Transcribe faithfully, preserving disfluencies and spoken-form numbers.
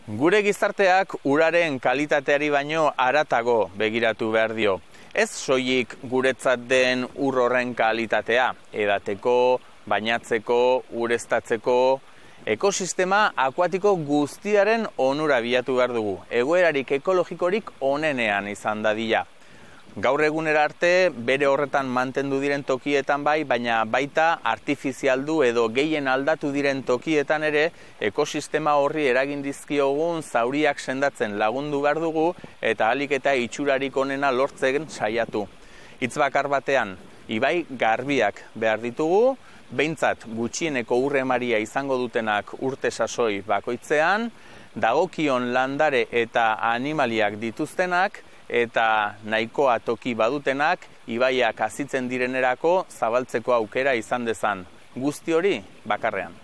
Gure gizarteak uraren kalitateari baino haratago begiratu behar dio. Ez soilik guretzat den ur horren kalitatea, edateko, bainatzeko, ureztatzeko, ekosistema akuatiko guztiaren onura bilatu behar dugu, egoerarik ekologikorik onenean izan dadila. Gaur egunera arte bere horretan mantendu diren tokietan bai, baina baita artifizialdu edo gehien aldatu diren tokietan ere ekosistema horri eragin dizkiogun zauriak sendatzen lagundu behar dugu eta ahalik eta itxurarik onena lortzen saiatu. Hitz bakar batean, ibai garbiak behar ditugu, behintzat gutxieneko urre emaria izango dutenak urte sasoi bakoitzean, dagokion landare eta animaliak dituztenak, eta nahikoa toki badutenak ibaiak hazitzen direnerako zabaltzeko aukera izan dezan. Guzti hori bakarrean.